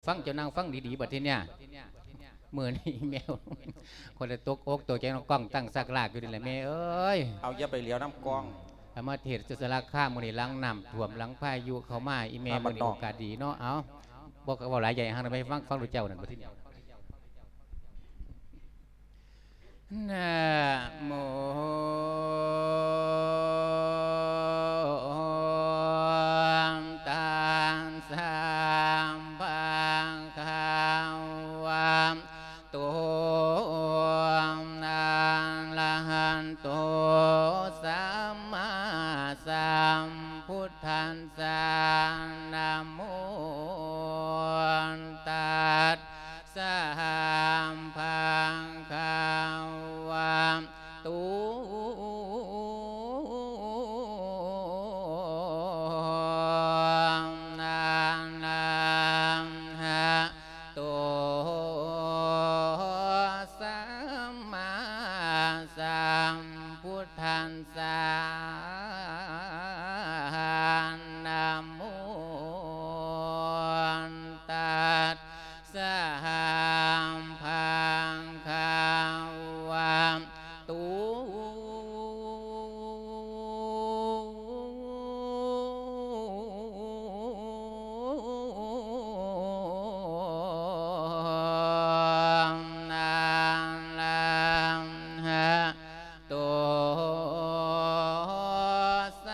ຟັງ ເຈົ້ານັ່ງຟັງດີໆ ບັດທີເນີ້ຍ ມື້ນີ້ແມ່ຂ້ອຍລະຕົກອົກຕົກໃຈນຳກ້ອງຕັ້ງຊັກລາກຢູ່ນີ້ແຫຼະແມ່ເອີຍ. ເອົາ ຢ່າໄປຫຼຽວນຳກ້ອງ ເອົາມາເທດສາລາຄາມມື້ນີ້ ຫຼັງນ້ຳຖ້ວມ ຫຼັງພາຍຸເຂົ້າມາ ອີແມ່ ມື້ນີ້ໂອກາດດີເນາະ. ເອົາ ບໍ່ກໍເວົ້າຫຼາຍ ຢ່າໃຫ້ເຮົາໄດ້ຟັງ ຟັງດູເຈົ້ານັ້ນບັດທີນີ້. ນະໂມຕັດສະ ພະຄະວະໂຕ ອະລະຫະໂຕ ສຳມາສຳພຸດທັດສະ ນະໂມຕັດ ສະ ພະຄະວະໂຕ ອະລະຫະໂຕ ສຳມາສຳພຸດທັດສະ ນະໂມຕັດ ສະ ພະຄະວະໂຕ ອະລະຫະໂຕ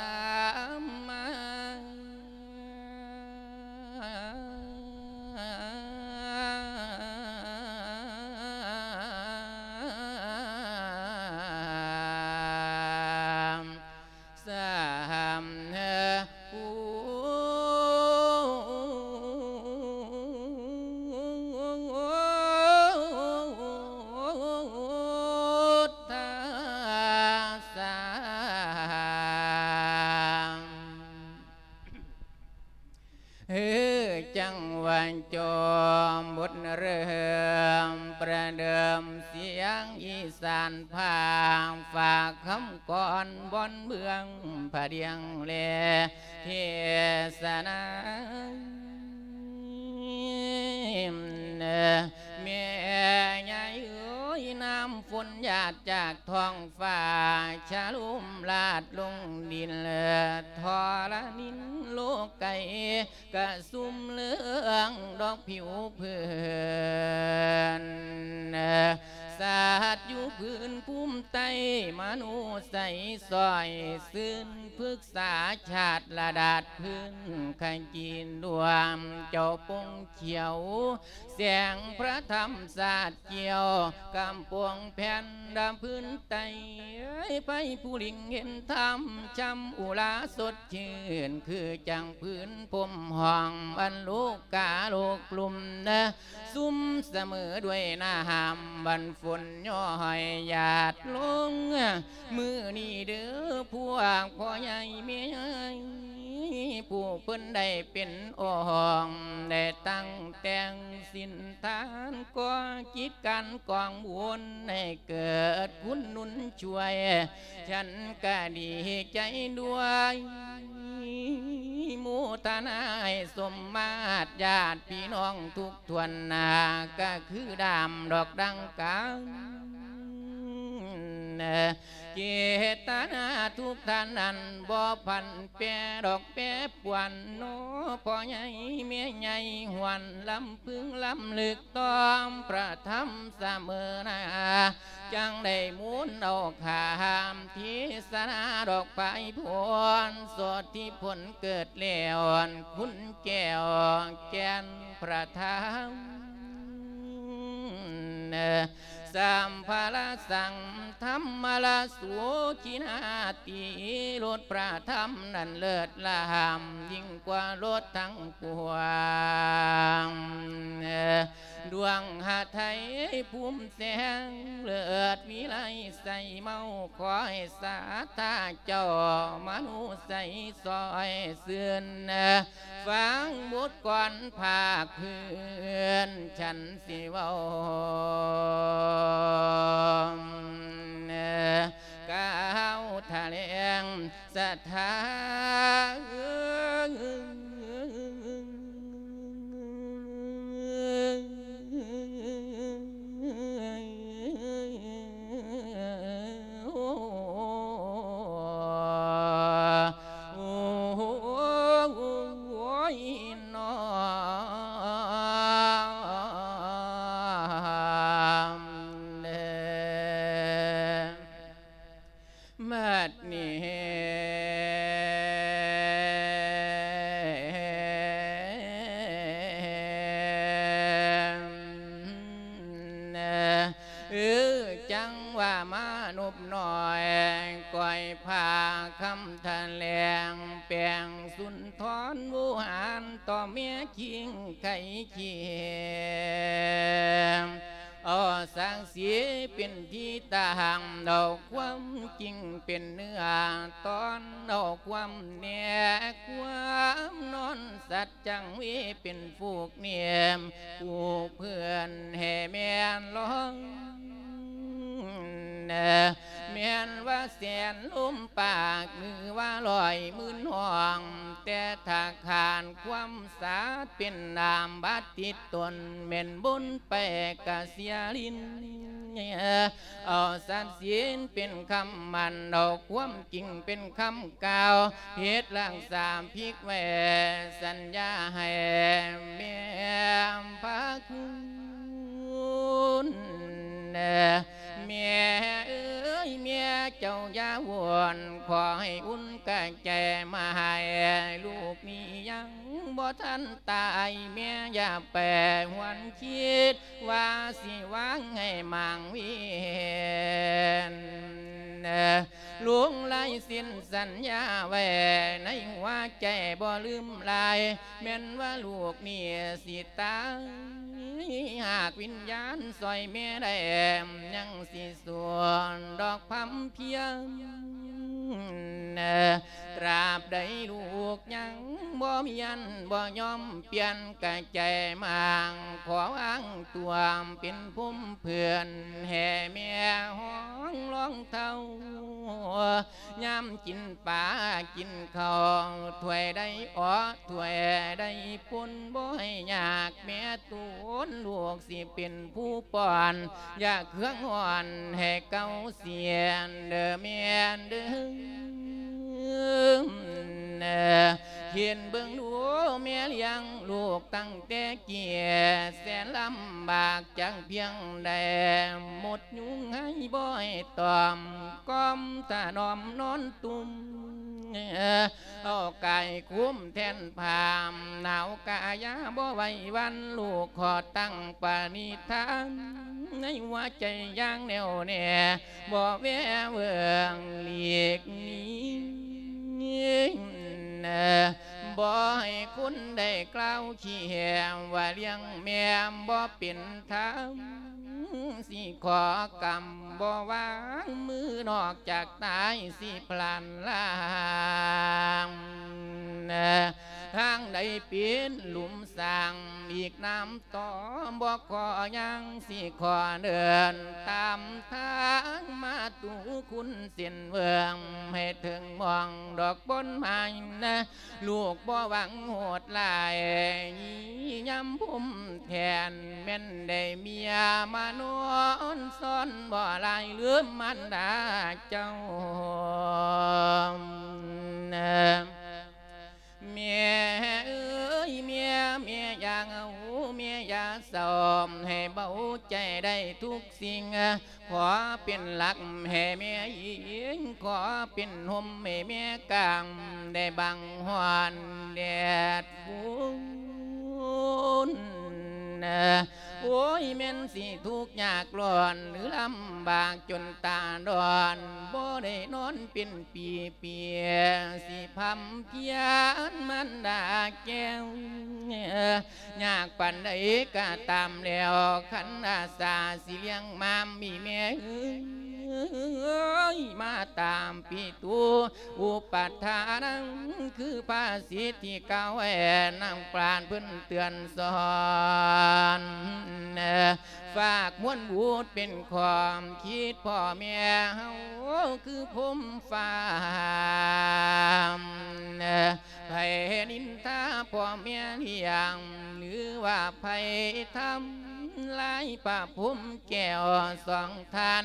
ສຳມາ ສຳ ພຸດທັດສະ ເອີ ຈັງຫວະຈອມບົດເລີ່ມ ປະເດີມສຽງອີສານພາກ ຝາກຄຳກອນບ່ອນເມືອງພະດຽງແລ ເທດສະນາ ແມ່ໃຫຍ່ເອີຍ ນ້ຳຝົນຫຍາດຈາກທ້ອງຟ້າ ຊະລຸມລາດລົງດິນ ທໍລະນິນໂລກໄກ ກະຊຸ່ມເຫຼືອງດອກຜິວເພີນ ສັດຢູ່ພື້ນພູມໃຕ້ ມະໂນໄຊຊ່ອຍຊື່ນ ພຶກສາຊາດລະດາດພື້ນ ຂະຈີນລວມເຈົ້າປົງຂຽວ ແສງພະທຳສາດກ່ຽວ ກຳປົງແຜ່ນດຳພື້ນໃຕ້ ໃຜຜູ້ລິງເຫັນທຳ ຊ່ຳອຸລາສົດຊື່ນ ຄືຈັ່ງພື້ນພົມຫ້ອງ ອັນໂລກາໂລກລຸ່ມ ຊຸ່ມສະເໝີດ້ວຍນ້ຳ ບັນຝົນຍ້ອຍຫຍາດລົງ ມື້ນີ້ເດີພວກພໍ່ໃຫຍ່ແມ່ໃຫຍ່ ຜູ້ເພິ່ນໄດ້ເປັນອົງ ໄດ້ຕັ້ງແຕ່ງສິນທານ ກໍ່ກິດການກອງບຸນ ໃຫ້ເກີດຄຸນໜູນຊ່ວຍ ສັນກະດີໃຈດ້ວຍ ໂມທະນາໃຫ້ສົມມາດ ຍາດພີ່ນ້ອງທຸກຖ້ວນໜ້າ ກະຄືດາມດອກດັ່ງການ ເຈດຕະນາທຸກທ່ານນັ້ນ ບໍ່ຜັນແປດອກແປປວນ ໜໍພໍ່ໃຫຍ່ແມ່ໃຫຍ່ ຫວນລຳພຶງລຳລຶກ ຕ້ອມພະທຳສະເໝີໜ້າ ຈັ່ງໄດ້ມູນເອົາຄຳເທດສະໜາດອກພາຍພົ້ນ ໂສດທິພົນເກີດແລ້ວ ຄຸນແກ້ວແກ່ນພະທຳ ສຳພະລະສັງທຳມະລະໂສກິນາຕິ ລົດພະທຳນັ້ນເລີດລ້ຳ ຍິ່ງກວ່າລົດທັງປວງ ດວງຫະໄທພູມແສງເລີດວິໄລໃສເມົາ ຂໍໃຫ້ສາທາເຈົ້າມະໂນໄຊຊ່ອຍຊື່ນ ຟັງບົດກອນພາກພື້ນ ສັນຊິເວົ້າກ່າວຖະແຫຼງສັດທາ ຄິງໄຄຄຽມ ເອົາສັກສີເປັນທີ່ຕັ້ງ ເອົາຄວາມຈິງເປັນເນື້ອ ຕ້ອນເອົາຄວາມແນ່ ຄວາມນອນສັດຈັງເວ ເປັນຜູກເນມ ຜູ້ເພື່ອນແຫ່ແມ່ນລອງ ແມ່ນວ່າແສນລົມປາກ ຫຼືວ່າຮ້ອຍໝື່ນຫ້ອງ ແຕ່ຖ້າຂາດຄວາມສາດເປັນນາມບາດຕິດຕົນ ແມ່ນບົນໄປກະເສຍລິນ ເອົາສັດສິນເປັນຄຳໝັ້ນ ເອົາຄວາມຈິງເປັນຄຳກ່າວ ເຮັດລັກສາພິກໄວ້ ສັນຍາໃຫ້ແມ່ພະຄຸນ ແມ່ເອີຍ ແມ່ເຈົ້າຢ່າວົນ ຂໍໃຫ້ອຸ່ນກະແຈມາໃຫ້ ລູກນີ້ຍັງບໍ່ທັນຕາຍ ແມ່ຢ່າໄປຫວນຄິດ ວ່າຊິວາງໃຫ້ໝາງວຽນ ລົງລາຍເຊັນສັນຍາໄວ້ໃນຫົວໃຈບໍ່ລືມລາຍ ແມ່ນວ່າລູກນີ້ຊິຕາຍ ຫາກວິນຍານຊ່ອຍແມ່ໄດ້ ຍັງຊິສູ້ດອກພຳພຽງ ຕາບໃດລູກຍັງບໍ່ມຽນ ບໍ່ຍອມປ່ຽນກະໃຈມາງ ຂໍວາງຕົວເປັນພົມເພື່ອນ ແຫ່ແມ່ຫ້ອງລອງເທົາ ຍາມກິນປາກິນເຂົ້າ ຖ້ວຍໃດເອາະ ຖ້ວຍໃດປົນ ບໍ່ໃຫ້ຍາກແມ່ຕົນ ລູກຊິເປັນຜູ້ປ້ອນ ຢາເຄື່ອງຮ້ອນໃຫ້ເກົາສຽນ ເດີແມ່ເດີ ເຫັນເບິ່ງດູແມ່ລ້ຽງລູກຕັ້ງແຕ່ເກີດ ແສນລຳບາກຈັກພຽງໃດ ໝົດຍຸງໃຫ້ບໍ່ໃຫ້ຕອມ ກ່ອມຖະໜອມນອນຕຸ່ມ ເອົາກາຍຄຸມແທນພາມ ໜາວກາຍາບໍ່ໄຫວຫວັ່ນ ລູກຂໍຕັ້ງປະນິທານ ໃນຫົວໃຈຢ່າງແໜ້ວແນ່ ບໍ່ແວເຫວີ່ງຫຼີກໜີ ບໍ່ໃຫ້ຄົນໃດກ່າວຂີ້ແຫມ ວ່າລ້ຽງແມ່ບໍ່ເປັນທຳ ຊິຂໍກຳບໍ່ວາງມື ນອກຈາກຕາຍຊິພລັນລາງ ທາງໃດເປັນຫຼຸມສ້າງ ອີກນຳຕໍ່ບໍ່ຂໍຍັງ ຊິຂໍເດີນຕາມທາງມາຕູຄຸນເສັ້ນເຫວີ່ງ ໃຫ້ເຖິງໝ່ອງດອກບ່ອນໝາຍນະ ລູກບໍ່ຫວັງໂຫດຮ້າຍ ຍາມພົມແທນ ແມ່ນໄດ້ເມຍມານອນຊ້ອນ ບໍ່ລາຍລືມມານດາເຈົ້າ ແມ່ເອີຍ ແມ່ ແມ່ຢ່າເຫງົາ ແມ່ຢ່າເສົ້າ ໃຫ້ເບົາໃຈໄດ້ທຸກສິ່ງ ຂໍເປັນຫຼັກໃຫ້ແມ່ອີງ ຂໍເປັນຮົ່ມໃຫ້ແມ່ກາງ ໄດ້ບັງຮ້ອນແດດຝົນ ໂອ້ຍ ແມ່ນຊິທຸກຍາກຮ້ອນ ຫຼືລຳບາກຈົນຕາດອນ ບໍ່ໄດ້ນອນເປັນປີໆ ຊິພຳພຽນມານດາແກ້ວ ຍາກປານໃດກະຕາມແລ້ວ ຄັນອາສາຊິລ້ຽງມາມີແມ່ເອີຍ ມາຕາມປີຕູ ອຸປະທານ ຄືພາສິດທີ່ກ່າວໄວ້ ນາງປານເພິ່ນເຕືອນສອນ ຝາກມວນບຸດເປັນຄວາມຄິດພໍ່ແມ່ເຮົາ ຄືພົມຟ້າ ໃຜນິນທາພໍ່ແມ່ລ້ຽງ ຫຼືວ່າໃຜທຳລາຍພະພົມແກ້ວສອງທ່ານ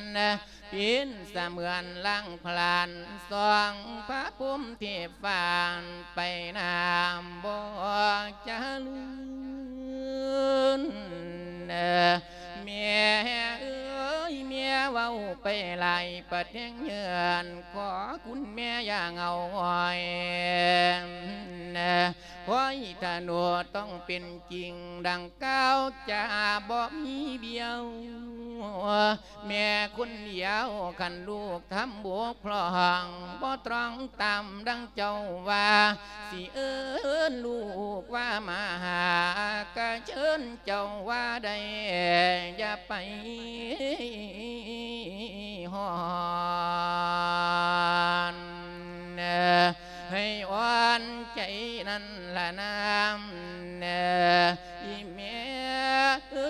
ເປັນສະເໝືອນລ້າງຜລານ ສອງພະພົມເທບຟານ ໄປນາມບໍ່ຈະລືນ ແມ່ເອີຍ ແມ່ເວົ້າໄປຫຼາຍປະແທງເຫຍື້ອນ ຂໍຄຸນແມ່ຢ່າເຫງົາຫງອຍ ຂໍໃຫ້ທະໂນຕ້ອງເປັນຈິງ ດັ່ງກ່າວຈາບໍ່ມີບຽວ ແມ່ຄົນດຽວ ຄັນລູກທຳບົກຜ່ອງ ບໍ່ຕຣອງຕາມດັ່ງເຈົ້າວ່າ ຊິເອີ້ນລູກວ່າມາຫາ ກະເຊີນເຈົ້າວ່າໄດ້ ຢ່າໄປຮ້ອນ ໃຫ້ອ່ອນໃຈນັ້ນລະນາ ອີແມ່ເອີ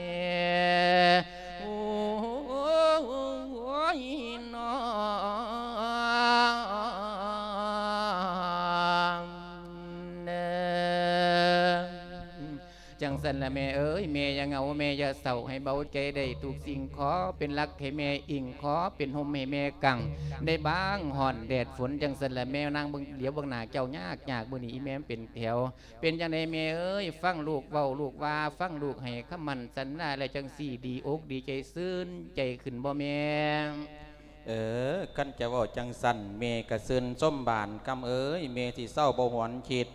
ຍ. ໂອ້ຍ ນ້ອງເອີຍ ຈັ່ງຊັ້ນລະແມ່ເອີຍ ແມ່ຢ່າເຫງົາ ແມ່ຢ່າເສົ້າ ໃຫ້ເບົາໃຈໄດ້ທຸກສິ່ງ ຂໍເປັນຫຼັກໃຫ້ແມ່ອີງ ຂໍເປັນຮົ່ມໃຫ້ແມ່ກາງ ໄດ້ບາງຮ້ອນແດດຝົນ ຈັ່ງຊັ້ນລະແມ່ນາງເບິ່ງ ຫຼຽວເບິ່ງໜ້າເຈົ້າຍາກໆ ມື້ນີ້ອີແມ່ມັນເປັນແຖວ ເປັນຈັ່ງໃດແມ່ເອີຍ ຟັງລູກເວົ້າ ລູກວ່າ ຟັງລູກໃຫ້ຄຳໝັ້ນສັນຍາແລ້ວ ຈັ່ງຊີ້ດີອົກດີໃຈ ຊື່ນໃຈຂຶ້ນບໍ່ແມ່? ເອີ ຄັນຈະເວົ້າຈັ່ງຊັ້ນ ແມ່ກະຊື່ນຊົມບານຄຳເອີຍ ແມ່ຊິເຊົາບໍ່ຫວນຄິດ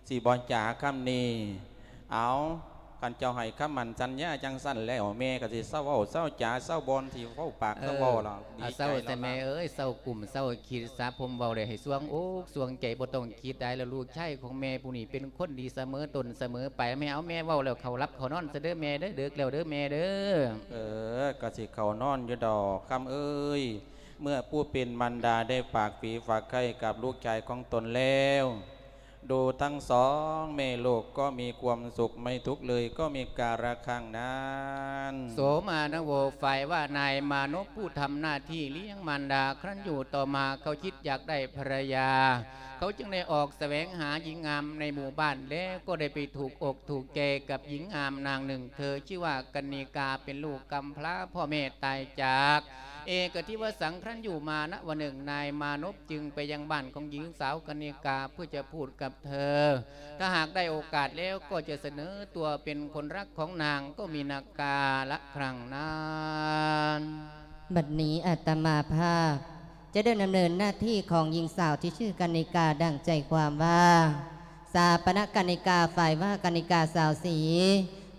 ຊິບໍ່ຈາຄຳນີ້ ເອົາ ຄັນເຈົ້າໃຫ້ຄຳໝັ້ນສັນຍາຈັ່ງຊັ້ນແລ້ວ ແມ່ກະຊິເຊົາເວົ້າ ເຊົາຈາ ເຊົາບ່ອນ ຊິເວົ້າປາກ ເອີ ເຊົາເວົ້າລະ ດີໃຈແລ້ວລະ ເຊົາແຕ່ແມ່ເອີຍ ເຊົາກຸ້ມ ເຊົາຄິດ ສະຜົມເວົ້າແລ້ວໃຫ້ສ່ວງອົກສ່ວງໃຈ ບໍ່ຕ້ອງຄິດຫຼາຍ ແລ້ວລູກຊາຍຂອງແມ່ຜູ້ນີ້ເປັນຄົນດີສະເໝີຕົ້ນສະເໝີປາຍ ແມ່ເອົາ ແມ່ເວົ້າແລ້ວເຂົ້າຫຼັບເຂົ້ານອນຊະເດີແມ່ເດີ ເດິກແລ້ວເດີແມ່ເດີ. ເອີ ກະຊິເຂົ້ານອນຢູ່ດອກຄຳເອີຍ ເມື່ອຜູ້ເປັນມານດາໄດ້ຝາກຜີຝາກໄຂ້ກັບລູກຊາຍຂອງຕົນແລ້ວ ດູທັງສອງແມ່ລູກກໍມີຄວາມສຸກ ໄມ່ທຸກເລີຍກໍມີກາລະຄັ້ງນັ້ນ. ໂສມານະໂວ ຝ່າຍວ່ານາຍມານົບຜູ້ທຳໜ້າທີ່ລ້ຽງມານດາ ຄັ້ນຢູ່ຕໍ່ມາເຂົາຄິດຢາກໄດ້ພັນລະຍາ ເຂົາຈຶ່ງໄດ້ອອກສະແຫວງຫາຍິງງາມໃນໝູ່ບ້ານ ແລ້ວກໍໄດ້ໄປຖືກອົກຖືກໃຈກັບຍິງງາມນາງໜຶ່ງ ເທີຊື່ວ່າກັນນິກາ ເປັນລູກກຳພຣາ ພໍ່ແມ່ຕາຍຈາກ ເອກະທິວະສັງ ຄັ້ນຢູ່ມານະວັນໜຶ່ງ ນາຍມານົບຈຶ່ງໄປຍັງບ້ານຂອງຍິງສາວກັນນິກາ ເພື່ອຈະພູດກັບເທີ ຖ້າຫາກໄດ້ໂອກາດແລ້ວກໍຈະສະເໜີຕົວເປັນຄົນຮັກຂອງນາງ ກໍມີນາກາລະຄັ້ງນັ້ນ. ບັດນີ້ອາດຕະມາພາບຈະໄດ້ດຳເນີນໜ້າທີ່ຂອງຍິງສາວທີ່ຊື່ກັນນິກາ ດັ່ງໃຈຄວາມວ່າ ສາປະນະກັນນິກາ ຝ່າຍວ່າກັນນິກາສາວສີ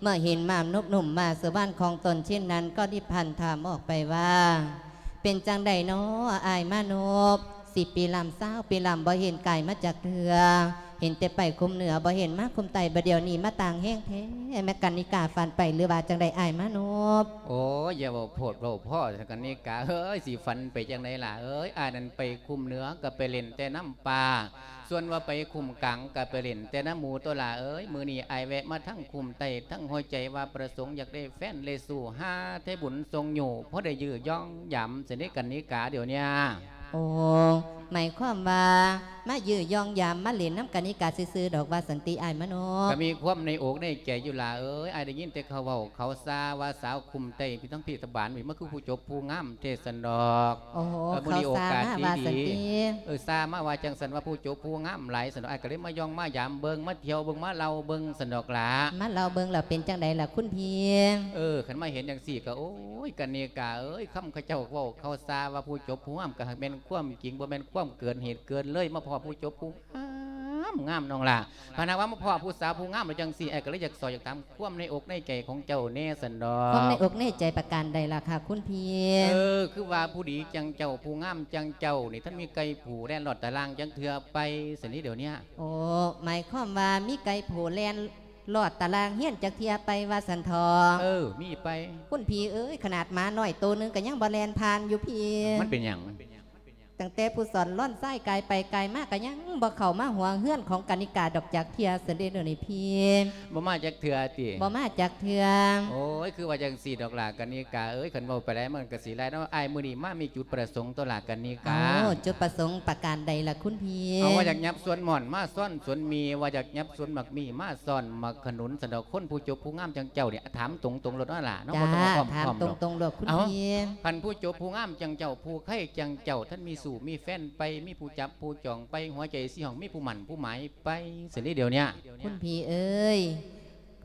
ເມື່ອເຫັນມານົບໜຸ່ມມາສູ່ບ້ານຂອງຕົນເຊັ່ນນັ້ນ ກໍໄດ້ພັນຖາມອອກໄປວ່າ ເປັນຈັ່ງໃດນໍອ້າຍມານົບ ສິບປີລຳ ຊາວປີລຳ ບໍ່ເຫັນກາຍມາຈັກເທື່ອ ເຫັນແຕ່ໄປຄຸມເໜືອ ບໍ່ເຫັນມາຄຸມໃຕ້ ບາດດຽວນີ້ມາຕ່າງແຮງແທ້ ແມ່ກັນນິກາຝັນໄປ ຫຼືວ່າຈັ່ງໃດອ້າຍມານົບ? ໂອ້ຍ ຢ່າເວົ້າໂພດເວົ້າພໍ້ ກັນນິກາເອີຍ ຊິຝັນໄປຈັ່ງໃດຫຼ້າເອີຍ ອ້າຍນັ້ນໄປຄຸມເໜືອ ກໍໄປຫຼິ້ນແຕ່ນ້ຳປ່າ ສ່ວນວ່າໄປຄຸ້ມກາງກະໄປຫຼິ້ນແຕ່ນຳໝູ່ຕົວຫຼ້າເອີຍ ມື້ນີ້ອ້າຍແວະມາທາງຄຸ້ມໃຕ້ ທັງຫົວໃຈວ່າປະສົງຢາກໄດ້ແຟນໄດ້ຊູ້ ຫາແຕ່ບຸນສົ່ງຢູ່ ພໍໄດ້ຢື້ຢອງຢາມ ຊັ້ນເດກັນນິກາດຽວເນີ້ຍ. ໂອ້ ໝາຍຄວາມວ່າມາຢື້ຢອງຢາມ ມາຫຼິ້ນນຳກັນນິກາຊື່ໆດອກ ວ່າຊັ້ນຕິອ້າຍມະນົບ? ກະມີຄວາມໃນອົກໃນໃຈຢູ່ຫຼ້າເອີຍ ອ້າຍໄດ້ຍິນແຕ່ເຂົາເວົ້າເຂົາຊາວ່າສາວຄຸ້ມໃຕ້ ທັງພີ້ທະບານນີ້ ມັນຄືຜູ້ຈົບຜູ້ງາມ ເທສັນດອກ. ໂອ້ໂຫ ເອີ ມື້ນີ້ໂອກາດດີໆ ເຂົາຊາມາວ່າຊັ້ນຕິ ເອີ ຊາມາວ່າຈັ່ງຊັ້ນ ວ່າຜູ້ຈົບຜູ້ງາມຫຼາຍຊັ້ນດອກ ອ້າຍກໍເລີຍມາຢ່ອງມາຢາມເບິ່ງ ມາທ່ຽວເບິ່ງ ມາເລົ່າເບິ່ງຊັ້ນດອກຫຼ້າ. ມາເລົ່າເບິ່ງແລ້ວເປັນຈັ່ງໃດລະຄຸນພີ່? ເອີ ຄັນມາເຫັນຈັ່ງຊີ້ກໍ ໂອ້ຍ ກັນນິກາເອີຍ ຄຳເຂົາເຈົ້າເວົ້າເຂົາຊາວ່າຜູ້ຈົບຜູ້ງາມ ກໍຫາກແມ່ນຄວາມຈິງ ບໍ່ແມ່ນຄວາມເກີນເຫດເກີນເລີຍ ມາພໍ້ຜູ້ຈົບຜູ້ງາມ ງາມນ້ອງຫຼ້າ ຄັນຫາກວ່າມາພໍ້ຜູ້ສາວຜູ້ງາມແລ້ວຈັ່ງຊີ້ ອ້າຍກໍເລີຍຢາກຊອກຢາກຖາມ ຄວາມໃນອົກໃນໃຈຂອງເຈົ້າແດ່ຊັ້ນດອກ. ຄວາມໃນອົກໃນໃຈປະການໃດລະຄະຄຸນພີ່? ເອີ ຄືວ່າຜູ້ດີຈັ່ງເຈົ້າ ຜູ້ງາມຈັ່ງເຈົ້ານີ້ ທັນມີໄກ່ຜູ້ແລ່ນລອດຕາລ່າງຈັກເທື່ອໄປ ຊັ້ນນີ້ດຽວເນີ້ຍ. ໂອ້ ໝາຍຄວາມວ່າມີໄກ່ຜູ້ແລ່ນລອດຕາລ່າງເຮືອນຈັກເທື່ອໄປ ວ່າຊັ້ນເຖາະ? ເອີ ມີໄປ. ຄຸນພີ່ເອີຍ ຂະໜາດໝານ້ອຍໂຕໜຶ່ງກໍຍັງບໍ່ແລ່ນຜ່ານຢູ່ພີ້. ມັນເປັນຫຍັງ? ຕັ້ງແຕ່ຜູ້ສອນລ້ອນຊາຍກາຍໄປກາຍມາ ກໍຍັງບໍ່ເຂົ້າມາຫົວເຮືອນຂອງກະນິກາດອກຈັກເທື່ອ ຊັ້ນເດດຽວນີ້ພີ່. ບໍ່ມາຈັກເທື່ອຕິ? ບໍ່ມາຈັກເທື່ອ. ໂອ້ຍ ຄືວ່າຈັ່ງຊີ້ດອກຫຼ້າກະນິກາເອີຍ ຄັນເວົ້າໄປຫຼາຍມັນກໍຊິຫຼາຍເນາະ ອ້າຍມື້ນີ້ມາມີຈຸດປະສົງຕົວະຫຼ້າກະນິກາ. ໂອ້ ຈຸດປະສົງປະການໃດລະຄຸນພີ່? ເອົາ ວ່າຢາກຫຍັບສວນມ່ອນມາຊ້ອນສວນມີ່ ວ່າຢາກຫຍັບສວນໝາກມີ່ມາຊ້ອນໝາກຂະໜູນ ຊັ້ນດອກ. ຄົນຜູ້ຈົບຜູ້ງາມຈັ່ງເຈົ້ານີ້ ຖາມຕົງໆໂລດເນາະຫຼ້າເນາະ ບໍ່ຕ້ອງອ້ອມຄ້ອມດອກ. ຖາມຕົງໆໂລດຄຸນພີ່. ເອົ້າ ຄັນຜູ້ຈົບຜູ້ງາມຈັ່ງເຈົ້າ ຜູ້ໃຄຈັ່ງເຈົ້າ ທັນມີຊູ້ມີແຟນໄປ ມີຜູ້ຈັບຜູ້ຈອງໄປ ຫົວໃຈຊິຫ້ອງ ມີຜູ້ໝັ້ນຜູ້ໝາຍໄປ ຊັ້ນນີ້ດຽວເນີ້ຍ. ຄຸນພີ່ເອີຍ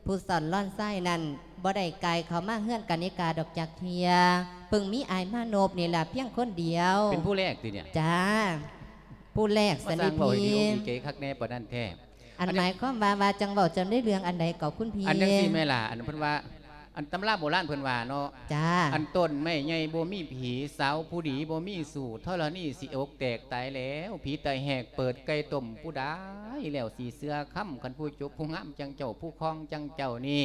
ຜູ້ສອນລ້ອນຊາຍນັ້ນ ບໍ່ໄດ້ກາຍເຂົ້າມາເຮືອນກະນິກາດອກຈັກເທື່ອ. ເພິ່ງມີອ້າຍມານົບນີ້ລະພຽງຄົນດຽວ. ເປັນຜູ້ແລກຕິເນຍ? ຈ້າ ຜູ້ແລກຊັ້ນເດພີ່. ມາສ້າງເວົ້າໃຫ້ດີອົກດີໃຈຄັກແນ່ປານນັ້ນແທ້. ອັນ ອັນນີ້ ໝາຍຄວາມວ່າ ວ່າຈັ່ງເວົ້າຈັ່ງໄດ້ເລື່ອງອັນໃດກໍຄຸນພີ່? ອັນຈັ່ງຊີ້ແມ່ຫຼ້າ ອັນເພິ່ນວ່າ ອັນຕຳລາໂບລານເພິ່ນວ່າເນາະ. ຈ້າ. ອັນຕົ້ນໄມ້ໃຫຍ່ບໍ່ມີຜີ ສາວຜູ້ດີບໍ່ມີຊູ້ ທໍລະນີຊິອົກແຕກຕາຍແລ້ວ ຜີຕາຍແຫກເປີດໄກ່ຕົ້ມຜູ້ໃດ ແລ້ວຊິເຊື່ອຄຳ ຄັນຜູ້ຈົບຜູ້ງາມຈັ່ງເຈົ້າ ຜູ້ຄອງຈັ່ງເຈົ້ານີ້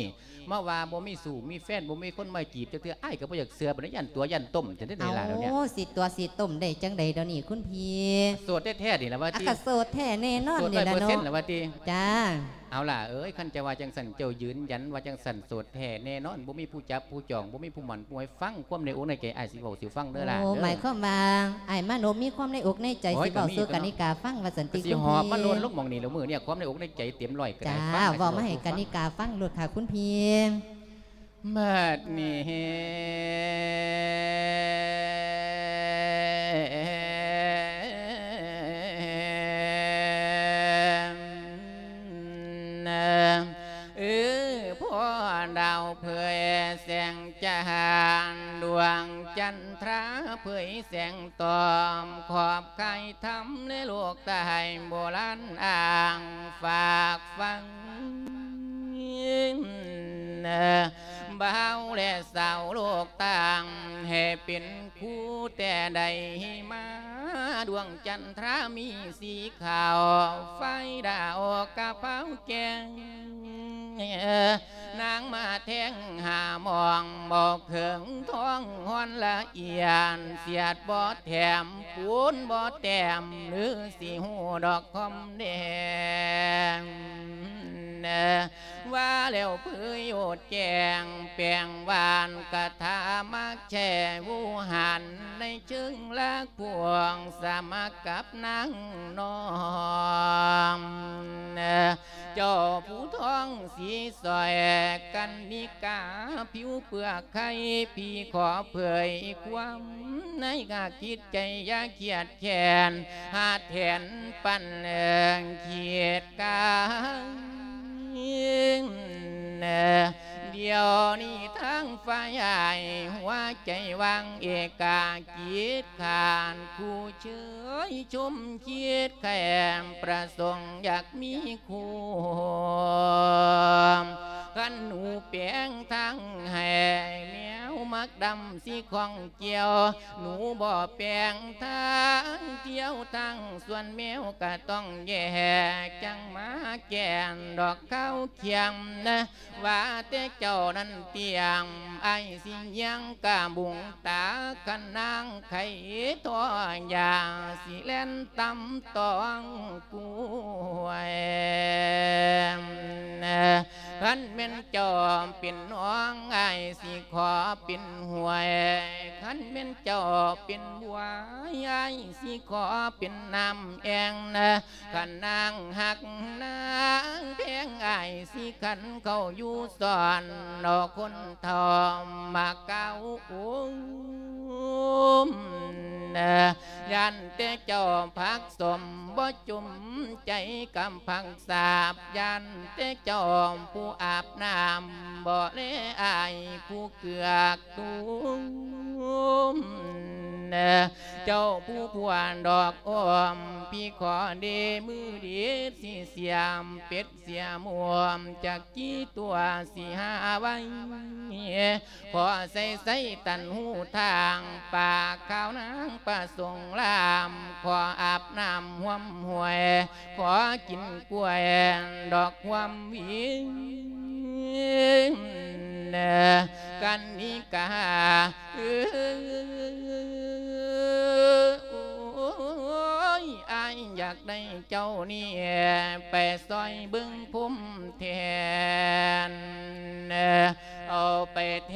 ມາວ່າບໍ່ມີຊູ້ມີແຟນ ບໍ່ມີຄົນມາຈີບຈັກເທື່ອ ອ້າຍກໍບໍ່ຢາກເຊື່ອປານໃດ ຢ້ານຕົວະຢ້ານຕົ້ມຈັ່ງໃດ ເອົ້າ ນີ້ລະດຽວນີ້. ຊິຕົວະຊິຕົ້ມໄດ້ຈັ່ງໃດດຽວນີ້ຄຸນພີ່? ໂສດແທ້ໆນີ້ລະວ່າຕິ? ອາ ກໍໂສດແທ້ແນ່ນອນນີ້ລະເນາະ. ຮ້ອຍເປີເຊັນລະວ່າຕິ? ຈ້າ. ເອົາລະເອີຍ ຄັນເຈົ້າວ່າຈັ່ງຊັ້ນ ເຈົ້າຢືນຢັນວ່າຈັ່ງຊັ້ນ ໂສດແທ້ແນ່ນອນ ບໍ່ມີຜູ້ຈັບຜູ້ຈອງ ບໍ່ມີຜູ້ໝັ້ນຜູ້ໃຫ້ ຟັງຄວາມໃນອົກໃນໃຈ ອ້າຍຊິເວົ້າສູ່ຟັງເດີຫຼ້າ. ໂອ້ ເດີ ໝາຍຄວາມວ່າ ອ້າຍມານົບມີຄວາມໃນອົກໃນໃຈ ໂອ້ຍ ຊິເວົ້າສູ່ກະນິກາຟັງວ່າຊັ້ນຕິ ຄຸນພີ່. ກໍຊິຫອບມາໂລນລົງໝ່ອງນີ້ລະມື້ນີ້ ຄວາມໃນອົກໃນໃຈເຕັມຮ້ອຍກໍໄດ້. ຈ້າ ເວົ້າມາໃຫ້ກະນິກາຟັງໂລດຄ່ະຄຸນພີ່. ບັດນີ້ ເອີ ພໍ່ດາວເຜີຍແສງຈ້ານ ດວງຈັນທຣາເຜີຍແສງຕອມ ຂອບຄາຍທຳໃນໂລກໃຕ້ໂບລານອ້າງຝາກຝັງ ບ່າວແລະສາວໂລກຕ່າງ ໃຫ້ເປັນຄູ່ແຕ່ໃດມາ ດວງຈັນທຣາມີສີຂາວ ໄຟດາວກະເພົາແກ້ງ ນາງມາແທງຫາໝ່ອງ ບໍ່ເຄິ່ງທ້ອງຮ່ອນລະອຽນ ສຽດບໍ່ແຖມ ປູນບໍ່ແຕ້ມ ຫຼືຊິຮູ້ດອກຄອມແດງ ວ່າແລ້ວເຜີຍໂອດແຈ້ງ ແປງຫວານກະຖາມັກແຊ່ວູຫັນ ໃນເຊີງລາກພວງ ສະໝັກກັບນາງນ້ອງ ເຈົ້າຜູ້ທອງສີສອຍ ກັນນິກາຜິວເປືອກໄຂ່ ພີ່ຂໍເຜີຍຄວາມໃນກະຄິດໃຈ ຢ່າຄຽດແຄ້ນ ຫາແທນປັນເອີງຄຽດກາຍ ດຽວນີ້ທາງຝ່າຍອ້າຍ ຫົວໃຈວ່າງເອກາກິດ ຂາດຄູ່ເຊີຍຊົມຄິດແຄ້ນ ປະສົງຢາກມີຄູ່ ຄັນໜູແປງທາງໃຫ້ ແມວມັກດຳຊິຂ້ອງ ກ່ຽວ ໜູບໍ່ແປງທາງທ່ຽວ ທາງສວນແມວກະຕ້ອງແຍກ ຈັ່ງມາແກ່ນດອກຂາວຂຽມນະ ວ່າແຕ່ເຈົ້ານັ້ນຕຽມ ອ້າຍຊິຍ່າງກະບຸງຕາ ຄັນນາງໄຂ່ທໍ່ຢາ ຊິແລ່ນຕຳຕ້ອງກວຍ ຄັນແມ່ນເຈົ້າເປັນໜອງ ອ້າຍຊິຂໍເປັນຫ້ວຍ ຄັນແມ່ນເຈົ້າເປັນບົວ ອ້າຍຊິຂໍເປັນນ້ຳແອ່ງນະ ຄັນນາງຮັກນາງແພງ ອ້າຍຊິຂັນເຂົ້າຢູ່ສອນ ເອົາຄົນເຖົ້າມາກ່າວໂອ້ມ ຢ້ານແຕ່ເຈົ້າຜັກສົມບໍ່ຈຸມໃຈກັບຜັກສາບ ຢ້ານແຕ່ເຈົ້າຜູ້ອາບນ້ຳບໍ່ແລອ້າຍຜູ້ເກືອກຕຸມ ເຈົ້າຜູ້ພວນດອກອ້ອມ ພີ່ຂໍເດມືດີດຊິສຽມເປັດ ເສຍໝວມຈັກກີຕົວຊິຫາໄວ້ ພໍໃສ່ໃສ່ຕັນຫູທາງ ປາກຂາວນາງປະສົງລາມ ຂໍອາບນ້ຳຮ່ວມຫ້ວຍ ຂໍກິນກ້ວຍດອກຄວາມວິງ ກັນນິກາ ເອີຍ ອ້າຍຢາກໄດ້ເຈົ້ານີ້ ໄປຊ່ອຍເບິ່ງພົມແທນ ເອົາໄປແທ